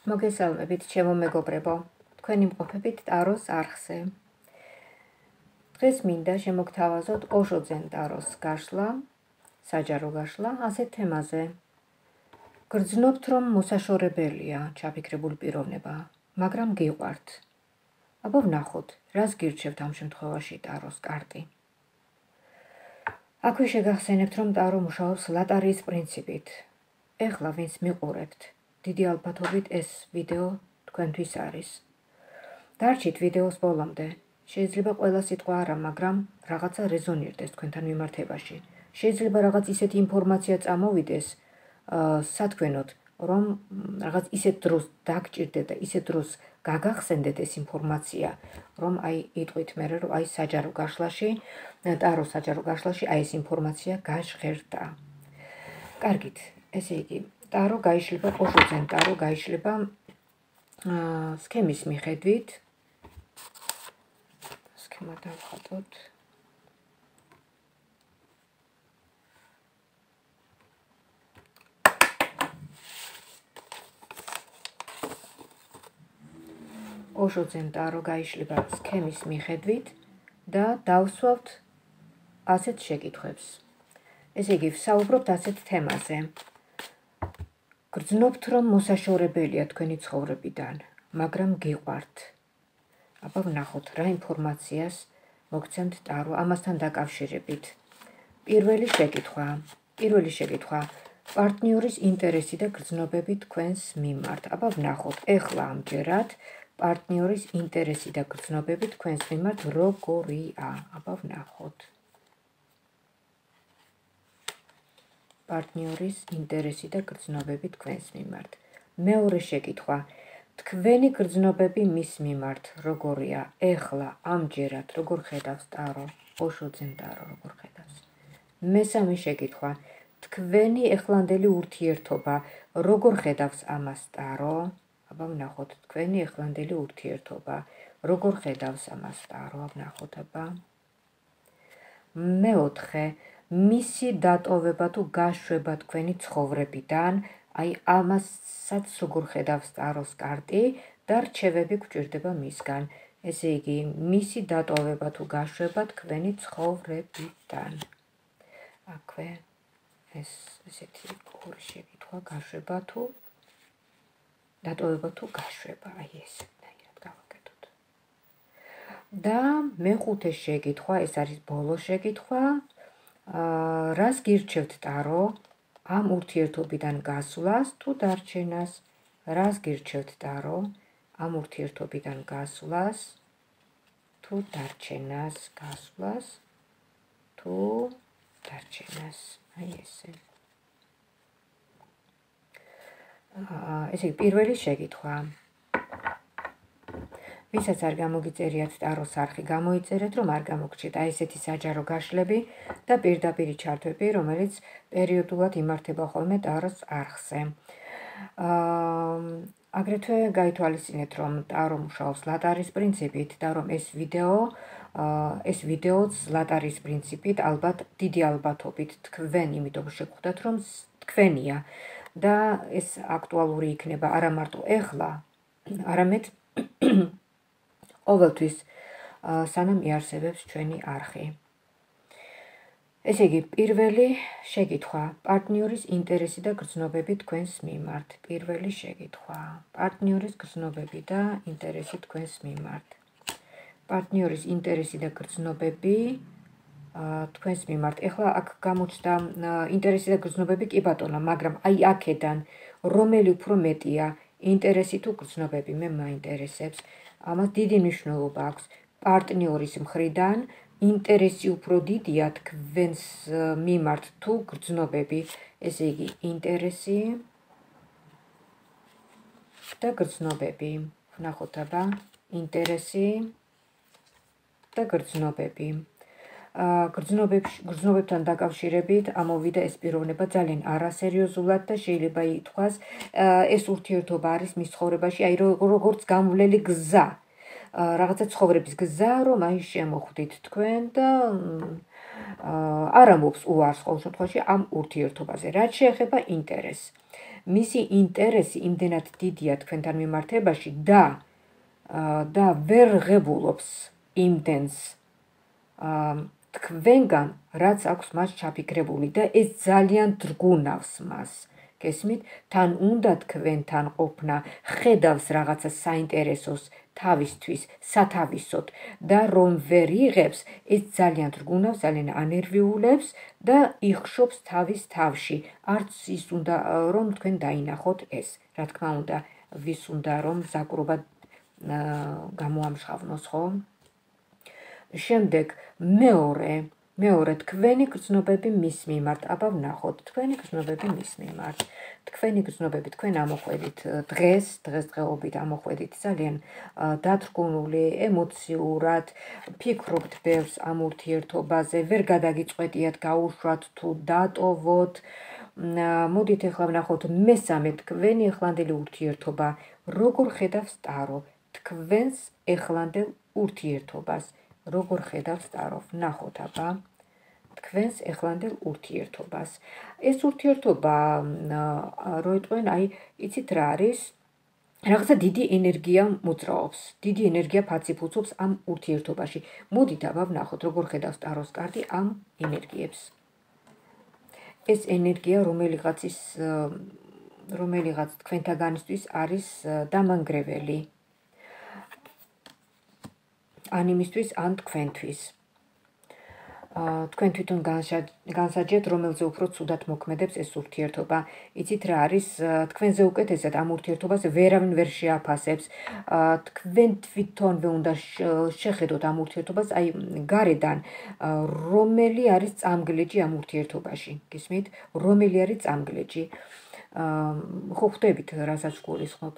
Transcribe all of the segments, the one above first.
მოგესალმებით, ჩემო მეგობრებო, თქვენი მყოფებით ტაროს არხზე. დღეს მინდა შემოგთავაზოთ ოშოძენ ტაროს გაშლა, საჯარო გაშლა, ასეთ თემაზე. გრძნობთ, რომ მოსაშორებელია ჩაფიქრებული პიროვნება, მაგრამ გიყვართ. აბა ვნახოთ, რას გირჩევთ ამ შემთხვევაში ტაროს კარტი. აქვე შეგახსენებთ, რომ ტარო მუშაობს ლატარიის პრინციპით. ეხლა ვინც მიყურებთ, დიდი ალბათობით ეს ვიდეო თქვენთვის არის. დარჩით ვიდეოს ბოლომდე. შეიძლება ყველა სიტყვა არა, მაგრამ რაღაცა რეზონირდეს თქვენთან მიმართებაში. შეიძლება რაღაც ისეთი ინფორმაცია წამოვიდეს სათქვენოდ, რომ რაღაც ისეთ დროს დაგჭირდეთ და ისეთ დროს გაგახსენდეთ ეს ინფორმაცია, რომ იტყვით მერე, რომ საჯარო გაშლაში, ტარო საჯარო გაშლაში ეს ინფორმაცია გაჟღერდა. კარგით, ესე იგი, ტარო გაიშლება, ოშოძენ ტარო გაიშლება სქემის მიხედვით. სქემა დავხატოთ. ოშოძენ ტარო გაიშლება სქემის მიხედვით და დავსვავთ ასეთ შეკითხვებს. ესე იგი, ვსაუბრობთ ასეთ თემაზე. გრძნობთ, რომ მოსაშორებელია თქვენი ცხოვრებიდან, მაგრამ გიყვართ. აბა ვნახოთ, რა ინფორმაციას მოგცემთ ტარო ამასთან დაკავშირებით. პირველი შეკითხვა. პარტნიორის ინტერესი და გრძნობები თქვენს მიმართ. აბა ვნახოთ, ეხლა ამჯერად პარტნიორის ინტერესი და გრძნობები თქვენს მიმართ როგორია. აბა ვნახოთ. პარტნიორის ინტერესი და გრძნობები თქვენს მიმართ. მეორე შეკითხვა. თქვენი გრძნობები მის მიმართ როგორია? ეხლა ამჯერად როგორ ხედავს ტარო? ოშოძენ ტარო როგორ ხედავს? მესამე შეკითხვა. თქვენი ეხლანდელი ურთიერთობა როგორ ხედავს ამას ტარო? აბა ვნახოთ, თქვენი ეხლანდელი ურთიერთობა როგორ ხედავს ამას ტარო? ვნახოთ, აბა. მეოთხე, მისი დატოვება თუ გაშვება თქვენი ცხოვრებიდან, ამასაც როგორ ხედავს ტაროს კარტი და რჩევები გვჭირდება მისგან. ესე იგი, მისი დატოვება თუ გაშვება თქვენი ცხოვრებიდან. აქვე ესეთი ორი შეკითხვა, გაშვება თუ დატოვება თუ გაშვება, ესეთნაირად გავაკეთოთ. და მეხუთე შეკითხვა, ეს არის ბოლო შეკითხვა. რას გირჩევთ ტარო ამ ურთიერთობიდან გასვლას თუ დარჩენას? რას გირჩევთ ტარო ამ ურთიერთობიდან გასვლას თუ დარჩენას? გასვლას თუ დარჩენას. ესე. ესე იგი, პირველი შეკითხვა. ვისაც არ გამოგიწერიათ ტაროს არხი, გამოიწერეთ, რომ არ გამოგრჩეთ ესეთი საჯარო გაშლები და პირდაპირი ჩართვები, რომელიც პერიოდულად იმართება ხოლმე ტაროს არხზე. აგრეთვე გაითვალისწინეთ, რომ ტარო მუშაობს ლატარიის პრინციპით და რომ ეს ვიდეოც ლატარიის პრინციპით, ალბათ დიდი ალბათობით თქვენ, იმიტომ შეგხვდათ, რომ თქვენია და ეს აქტუალური იქნება არა მარტო ეხლა, არამედ ყოველთვის სანამ იარსებებს ჩვენი არხი. ესე იგი, პირველი შეკითხვა. პარტნიორის ინტერესი და გრძნობები თქვენს მიმართ. პირველი შეკითხვა. პარტნიორის გრძნობები და ინტერესი თქვენს მიმართ. პარტნიორის ინტერესი და გრძნობები თქვენს მიმართ. ეხლა აქ გამოჩნდა ინტერესი და გრძნობები, კი ბატონო, მაგრამ აქედან რომელი უფრო მეტია, ინტერესი თუ გრძნობები? მე მაინტერესებს. ამას დიდი მნიშვნელობა აქვს. პარტნიორის მხრიდან ინტერესი უფრო დიდია თქვენს მიმართ თუ გრძნობები? ესე იგი, ინტერესი და გრძნობები. ვნახოთ, აბა, ინტერესი და გრძნობები. გრძნობებთან დაკავშირებით ამოვიდა ეს პიროვნება ძალიან არასერიოზულად და შეიძლება ითქვას, ეს ურთიერთობა არის მის ცხოვრებაში, როგორც გამვლელი გზა. რაღაცა ცხოვრების გზა, რომ შემოხვდით თქვენ და არ ამბობს უარს ყოველ შემთხვევაში ამ ურთიერთობაზე. რაც შეეხება ინტერესს. მისი ინტერესი იმდენად დიდია თქვენთან მიმართებაში და ვერ ღებულობს იმდენს თქვენგან, რაც აქვს მას ჩაფიქრებული და ეს ძალიან დრგუნავს მას. გესმით? თან უნდა თქვენთან ყოფნა, ხედავს რაღაცა საინტერესოს თავისთვის, სათავისოდ და რომ ვერ იღებს, ეს ძალიან დრგუნავს, ძალიან ანერვიულებს და იხშობს თავის თავში. არც ის უნდა რომ თქვენ დაინახოთ ეს. რა თქმა უნდა, ვის უნდა რომ ზაკვრობა გამოამშღავნოს, ხო? შემდეგ მეორე თქვენი გრძნობები მის მიმართ, აბა ვნახოთ თქვენი გრძნობები მის მიმართ. თქვენი გრძნობები თქვენ ამოხვედით დღესდღეობით ამოხვედით ძალიან დათრგუნული, ემოციურად, ფიქრობთ ბევრს ამ ურთიერთობაზე, ვერ გადაგიწყვეტიათ გაუშვათ თუ დატოვოთ. მოდით ახლა ვნახოთ მესამე თქვენი ახლანდელი ურთიერთობა, როგორ ხედავს ტარო თქვენს ახლანდელ ურთიერთობას. როგორ ხედავს ტარო, ვნახოთ აბა თქვენს ახლანდელ ურთიერთობას. ეს ურთიერთობა რო იტყვენ, იცით რა არის? რაღაცა დიდი ენერგია მოძრაობს, დიდი ენერგია ფაციფუცობს ამ ურთიერთობაში. მოდით აბა ვნახოთ, როგორ ხედავს ტაროს კარტი ამ ენერგიებს. ეს ენერგია რომელიღაც თქვენთაგანისთვის არის დამანგრეველი. ან იმისთვის, ან თქვენთვის. თქვენ თვითონ განსაჯეთ, რომელზე უფრო ცუდად მოქმედებს ეს ურთიერთობა. იცით რა არის? თქვენზე უკეთესად ამ ურთიერთობას ვერავინ ვერ შეაფასებს. თქვენ თვითონვე უნდა შეხედოთ ამ ურთიერთობას, გარედან, რომელი არის წამგლეჯი ამ ურთიერთობაში. გისმით? რომელი არის წამგლეჯი? ხო ხვდებით, რასაც გულისხმობ.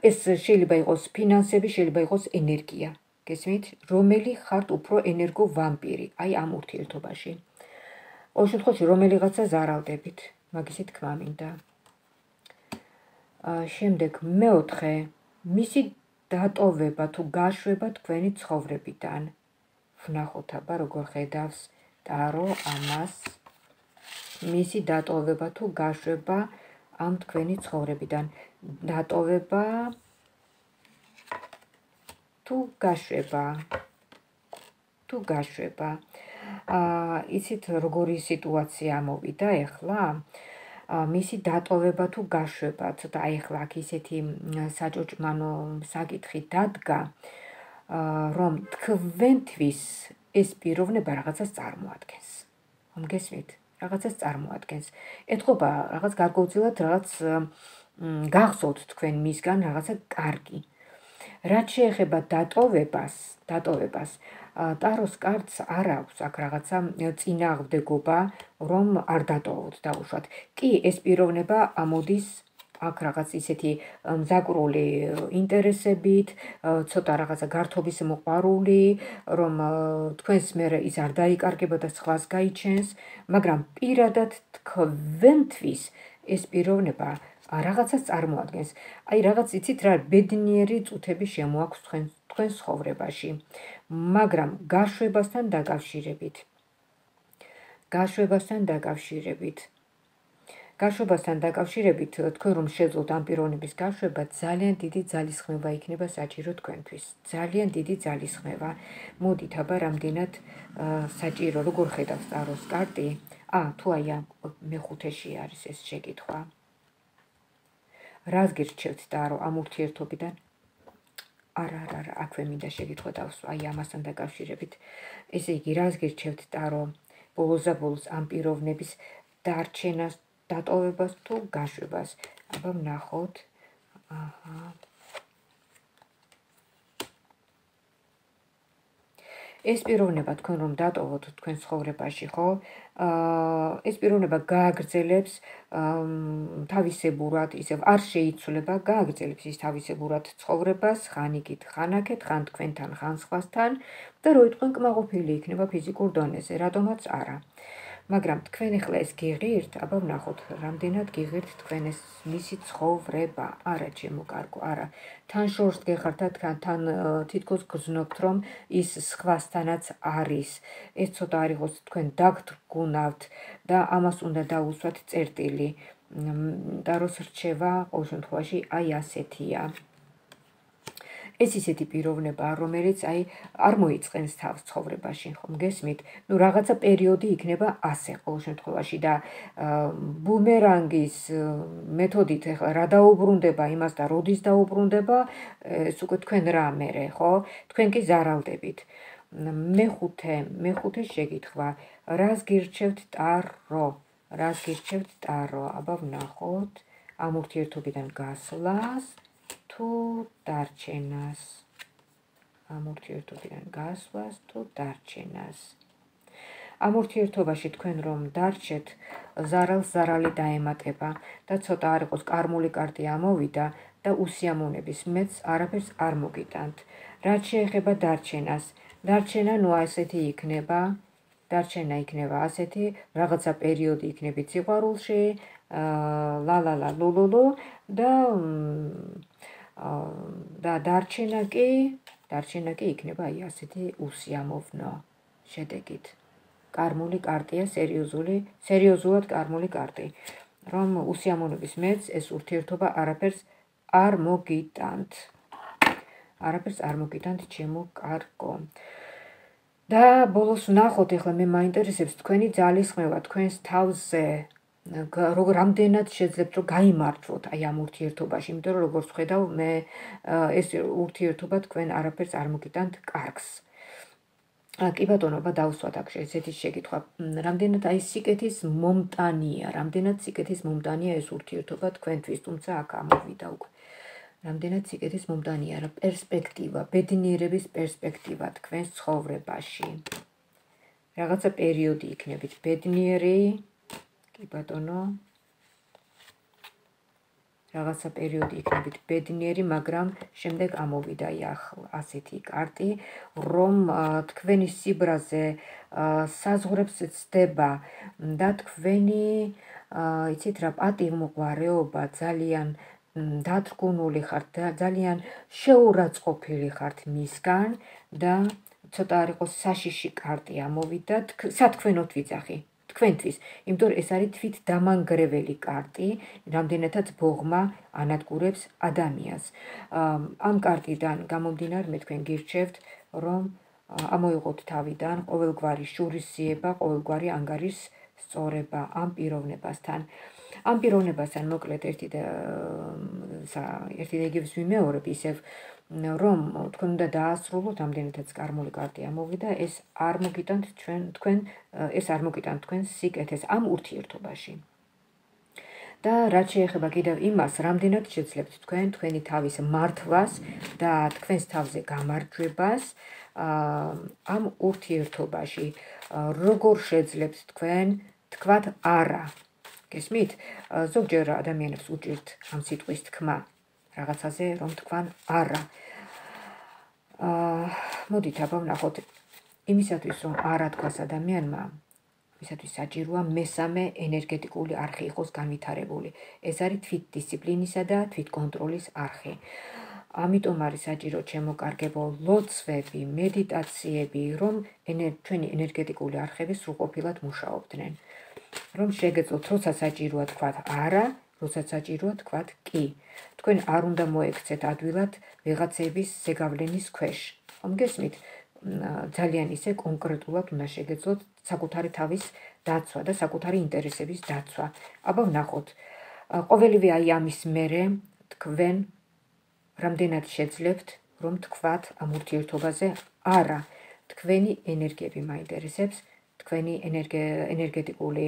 ეს შეიძლება იყოს ფინანსები, შეიძლება იყოს ენერგია. გესმით, რომელი ხართ უფრო ენერგო ვამპირი, ამ ურთიერთობაში. ყოველ შემთხვევაში, რომელიღაცა ზარავდებით, მაგისი თქმა მინდა. შემდეგ მეოთხე, მისი დატოვება თუ გაშვება თქვენი ცხოვრებიდან. ვნახოთ აბა როგორ ხედავს ტარო ამას. მისი დატოვება თუ გაშვება ამ თქვენი ცხოვრებიდან. დატოვება თუ გაშვება. იცით როგორი სიტუაცია მოვიდა ეხლა? მისი დატოვება თუ გაშვება, ცოტა ეხლა აქ ისეთი საჭოჭმანო საკითხი დადგა, რომ თქვენთვის ეს პიროვნება რაღაცას წარმოადგენს. გესმით? რაღაცას წარმოადგენს. ეთქობა რაღაც გარკვეულწილად რაღაც გახსოვთ თქვენ მისგან რაღაცა კარგი. რაც შეეხება დატოვებას, ტაროს კარტს არ აქვს აქ რაღაცა წინააღმდეგობა, რომ არ დატოვოთ დაუშვათ. კი, ეს პიროვნება ამოდის აქ რაღაც ისეთი მზაკვრული ინტერესებით, ცოტა რაღაცა გართობის მოყვარული, რომ თქვენს მერე ის არ დაიკარგება და სხვას გაიჩენს, მაგრამ პირადად თქვენთვის ეს პიროვნება რაღაცას წარმოადგენს. რაღაც იცით რა, ბედნიერი წუთები შემოაქვს თქვენ ცხოვრებაში, მაგრამ გაშვებასთან დაკავშირებით, თქვენ რომ შეძლოთ ამ პიროვნების გაშვება, ძალიან დიდი ძალისხმევა იქნება საჭირო თქვენთვის. ძალიან დიდი ძალისხმევა. მოდით აბა რამდენად საჭირო, როგორ ხედავს ტაროს კარტი? თუ მეხუთეში არის ეს შეკითხვა. რას გირჩევთ ტარო ამ ურთიერთობიდან? არა, აქვე მინდა შეკითხვა დავსვა ამასთან დაკავშირებით. ესე იგი, რას გირჩევთ ტარო ბოლოს ამ პიროვნების დარჩენას, დატოვებას თუ გაშვებას? აბა ვნახოთ. ეს პიროვნება თქვენ რომ დატოვოთ თქვენ ცხოვრებაში, ხო? ეს პიროვნება გააგრძელებს თავისებურად, ისევ არ შეიცვლება, გააგრძელებს ის თავისებურად ცხოვრებას, ხან იქით, ხან აქეთ, ხან თქვენთან, ხან სხვასთან და რო იტყვენ კმაყოფილი იქნება ფიზიკურ დონეზე, რატომაც არა. მაგრამ თქვენ ახლა ეს გიღირთ, აბა ვნახოთ, რამდენად გიღირთ თქვენ ეს მისი ცხოვრება. არა, ჩემო კარგო, არა. თან შორს გეხართ და თან თითქოს გრძნობთ, რომ ის სხვასთანაც არის. ეს ცოტა არ იყოს თქვენ დაგდრგუნავთ და ამას უნდა დაუსვათ წერტილი. და როს რჩება, ყოველ შემთხვევაში, აი ასეთია. ეს ისეთი პიროვნებაა, რომელიც არ მოიწყენს თავს ცხოვრებაში, ხომ გესმით? რაღაცა პერიოდი იქნება ასე ყოველ შემთხვევაში და ბუმერანგის მეთოდით ახლა რა დაუბრუნდება იმას და როდის დაუბრუნდება, ეს უკვე თქვენ რამერე, ხო? თქვენ კი ზარალდებით. მეხუთე შეკითხვა. რას გირჩევთ ტარო? რას გირჩევთ ტარო? აბა ვნახოთ. ამ ურთიერთობიდან გასვლას თუ დარჩენას. ამ ურთიერთობიდან გასვლას თუ დარჩენას. ამ ურთიერთობაში თქვენ რომ დარჩეთ, ზარალს ზარალი დაემატება და ცოტა არ იყოს კარმული კარტი ამოვიდა და უსიამოვნების მეც არაფერს არ მოგიტანთ. რაც შეეხება დარჩენას, დარჩენა ნუ ასეთი იქნება, დარჩენა იქნება ასეთი, რაღაცა პერიოდი იქნებით სიყვარულში, ლა ლულულუ და დარჩენა კი იქნება აი ასეთი უსიამოვნო შედეგით. კარმული კარტია, სერიოზულად კარმული კარტი, რომ უსიამოვნების მეც ეს ურთიერთობა არაფერს არ მოგიტანთ. არაფერს არ მოგიტანთ, ჩემო კარგო. და ბოლოს ვნახოთ, ახლა მე მაინტერესებს თქვენი ძალისხმევა თქვენს თავზე. რამდენად შეძლებთ რომ გაიმართლოთ აი ამ ურთიერთობაში, იმიტომ რომ როგორც ხედავ, მე ეს ურთიერთობა თქვენ არაფერს არ მოგიტანთ კარგს. კი ბატონო, დავსვათ აქ ესეთი შეკითხვა. რამდენად აი სიკეთის მომტანია ეს ურთიერთობა თქვენთვის, თუმცა აქ ამოვიდა უკვე. რამდენად სიკეთის მომტანია რა პერსპექტივა, ბედნიერების პერსპექტივა თქვენს ცხოვრებაში. რაღაცა პერიოდი იქნებით ბედნიერი, კი ბატონო. რაღაცა პერიოდი იქნებით ბედნიერი, მაგრამ შემდეგ ამოვიდა ასეთი კარტი, რომ თქვენი სიბრაზე საზღვრებს ცდება და თქვენი, იცით რა, პატივმოყვარეობა ძალიან დადგუნული ხართ და ძალიან შეურაცხყოფილი ხართ მისგან და ცოტა არ იყოს საშიში კარტი ამოვიდა, სათქვენოთ ვიძახი. თქვენთვის, იმიტომ რომ ეს არის თვით დამანგრეველი კარტი, რამდენადაც ბოღმა ანადგურებს ადამიანს. ამ კარტიდან გამომდინარე მე თქვენ გირჩევთ, რომ ამოიღოთ თავიდან ყოველგვარი შურისძიება, ყოველგვარი ანგარის სწორება ამ პიროვნებასთან. ამ პიროვნებასთან მოკლედ ერთი და იგივეს ვიმეორებ ისევ, რომ თქვენ უნდა დაასრულოთ, ამდენადაც კარმული კარტი ამოვიდა, ეს არ მოგიტანთ თქვენ სიკეთეს ამ ურთიერთობაში. და რაც შეეხება კიდევ იმას, რამდენად შეძლებთ თქვენ თქვენი თავის მართვას და თქვენს თავზე გამარჯვებას ამ ურთიერთობაში, როგორ შეძლებთ თქვენ თქვათ არა. გესმით? ზოგჯერ ადამიანებს უჭირთ ამ სიტყვის თქმა რაღაცაზე, რომ თქვან არა. მოდით აბა ვნახოთ, იმისათვის რომ არა თქვას ადამიანმა, ისათვის საჭიროა მესამე ენერგეტიკული არხი იყოს განვითარებული. ეს არის თვითდისციპლინისა და თვითკონტროლის არხი. ამიტომ არის საჭირო, ჩემო კარგებო, ლოცვები, მედიტაციები, რომ ჩვენი ენერგეტიკული არხები სრულყოფილად მუშაობდნენ. რომ შეგეძლოთ, როცა საჭიროა თქვათ არა, როცა საჭიროა თქვათ კი. თქვენ არ უნდა მოექცეთ ადვილად ვიღაცების ზეგავლენის ქვეშ. ხომ გესმით? ძალიან ისე კონკრეტულად უნდა შეგეძლოთ საკუთარი თავის დაცვა და საკუთარი ინტერესების დაცვა. აბა ვნახოთ. ყოველივე აი ამის მერე თქვენ რამდენად შეძლებთ, რომ თქვათ ამ ურთიერთობაზე არა. თქვენი ენერგიები მაინტერესებს, თქვენი ენერგეტიკული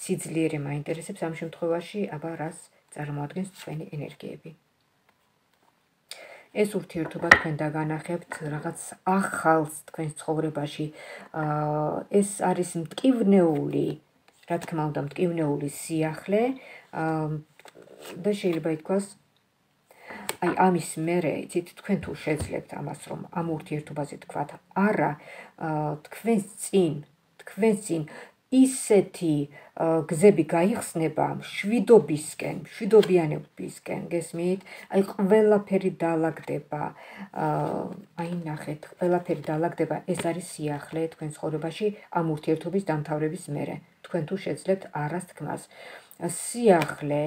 სიძლიერე მაინტერესებს ამ შემთხვევაში, აბა რას წარმოადგენს თქვენი ენერგიები. ეს ურთიერთობა თქვენ დაგანახებთ რაღაც ახალს თქვენს ცხოვრებაში. ეს არის მტკივნეული, რა თქმა უნდა, მტკივნეული სიახლე და შეიძლება ითქვას, აი ამის მერე, იცით, თქვენ თუ შეძლებთ ამას, რომ ამ ურთიერთობაზე თქვათ არა, თქვენს წინ ისეთი გზები გაიხსნება მშვიდობისკენ, მშვიდობიანობისკენ, გესმით? აი ყველაფერი დაალაგდება, აი ნახეთ, ყველაფერი დაალაგდება, ეს არის სიახლე თქვენ ცხოვრებაში ამ ურთიერთობის დამთავრების მერე. თქვენ თუ შეძლებთ არას თქმას. სიახლე,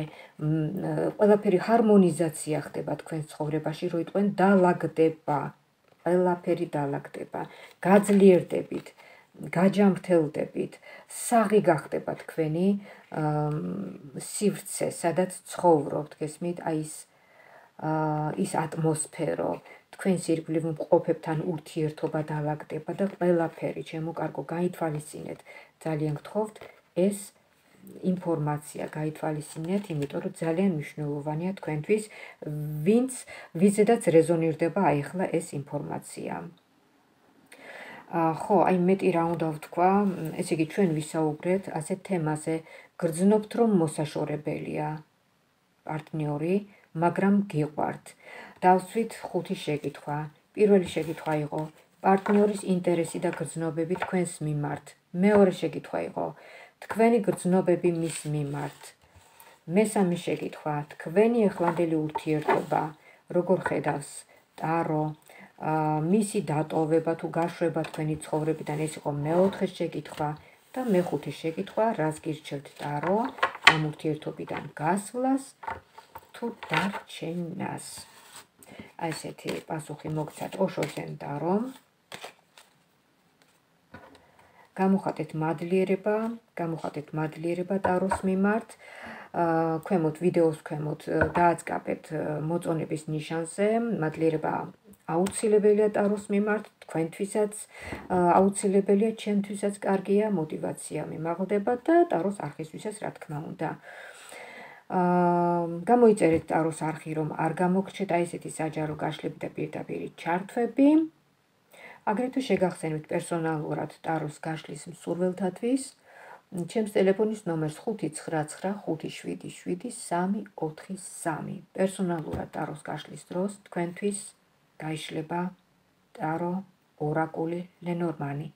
ყველაფერი ჰარმონიზაცია ხდება თქვენ ცხოვრებაში, როიტყვენ დაალაგდება, ყველაფერი დაალაგდება, გაძლიერდებით, გაჯამრთელდებით, საღი გახდება თქვენი სივრცე, სადაც ცხოვრობთ, გესმით? აი ის ატმოსფერო, თქვენს ირგვლივ მყოფებთან ურთიერთობა დაალაგდება და ყველაფერი, ჩემო კარგო, გაითვალისწინეთ, ძალიან გთხოვთ, ეს ინფორმაცია გაითვალისწინეთ, იმიტომ რომ ძალიან მნიშვნელოვანია თქვენთვის, ვიზედაც რეზონირდება აი ახლა ეს ინფორმაცია. ხო, აი მეტი რა უნდა ვთქვა, ესე იგი ჩვენ ვისაუბრეთ ასეთ თემაზე, გრძნობთ რომ მოსაშორებელია პარტნიორი, მაგრამ გიყვართ. დავსვით 5 შეკითხვა. პირველი შეკითხვა იყო პარტნიორის ინტერესი და გრძნობები თქვენს მიმართ. მეორე შეკითხვა იყო თქვენი გრძნობები მის მიმართ. მესამე შეკითხვა თქვენი ახლანდელი ურთიერთობა როგორ ხედავს ტარო, მისი დატოვება თუ გაშვება თქვენი ცხოვრებიდან, ეს იყო მეოთხე შეკითხვა და მეხუთე შეკითხვა, რას გირჩევთ ტარო ამ ურთიერთობიდან გასვლას თუ დარჩენას. აი ესეთი პასუხი მოგცათ ოშოძენ ტარომ. გამოხატეთ მადლიერება ტაროს მიმართ. ქვემოთ ვიდეოს ქვემოთ დააწყაბეთ მოწონების ნიშანზე, მადლიერება აუცილებელია ტაროს მიმართ, თქვენთვისაც აუცილებელია, ჩემთვისაც კარგია, мотиваცია მიმაღლდება და ტაროს არხისთვისაც რა თქმა უნდა. გამოიწერეთ ტაროს არხი, რომ არ გამოგრჩეთ აი ესეთი საჯარო გაშლები და პირდაპირი ჩართვები. აგრეთვე შეგახსენებთ პერსონალურად ტაროს გაშლის მსურველთათვის. ჩემს ტელეფონის ნომერს 595777343. პერსონალურად ტაროს გაშლის დროს თქვენთვის გაიშლება ტარო ორაკული ლენორმანი.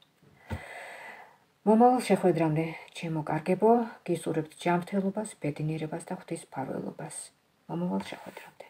მომავალ შეხვედრამდე, ჩემო კარგებო, გისურვებთ ჯანმრთელობას, ბედნიერებას და ღვთისმფარველობას. მომავალ შეხვედრამდე.